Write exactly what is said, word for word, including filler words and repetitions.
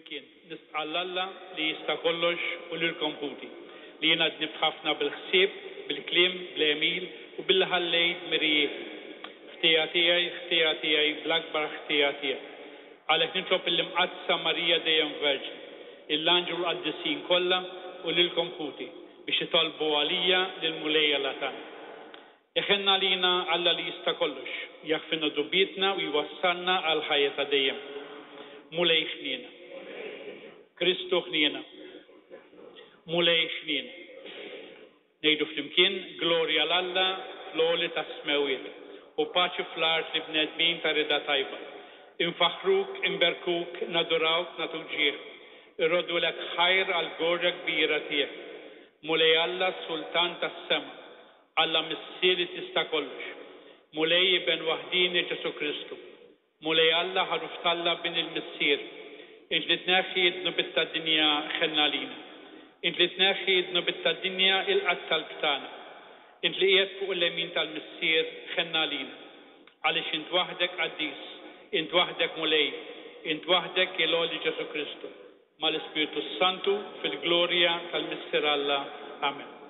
Flimkien, nistqarr 'l Alla li jista' kollox u lilkom ħuti, li jiena dnibt ħafna bil-ħsieb, bil-kliem, bl-għemil u billi ħallejt dmirijieti. Ħtija tiegħi, ħtija tiegħi, bl-akbar ħtija tiegħi. Għalhekk nitlob lill-Imqaddsa Marija dejjem Verġni, lill-anġli u l-qaddisin kollha u lilkom ħuti biex titolbu għalija lill-Mulej Alla tagħna. Iħenn għalina Alla li jista' kollox, jaħfrilna dnubietna u jwassalna għall-ħajja ta' dejjem. Mulej ħniena. Kristu ħniena. Mulej ħniena. Ngħidu flimkien, glorja 'l Alla fl-għoli tas-smewwiet u paċi fl-art lill-bnedmin ta' rieda tajba. Infaħħruk, inberkuk, nadurawk, nagħtuk ġieħ. Irroddulek ħajr għall-glorja kbira tiegħek. Mulej Alla, Sultan tas-sema, Alla Missier li tista' kollox. Mulej Iben waħdieni Ġesù Kristu. Mulej Alla ħaruf t'Alla Bin il-Missier. Int li tneħħi d-dnubiet tad-dinja ħenn għalina. Int li tneħħi d-dnubiet tad-dinja ilqa' t-talb tagħna. Int li qiegħed fuq il-lemin tal-Missier ħenn għalina. Għaliex int waħdek qaddis, int waħdek Mulej, int waħdek il-għoli Ġesù Kristu. Mal-Ispirtu Santu fil-glorja tal-Missier Alla. Amen.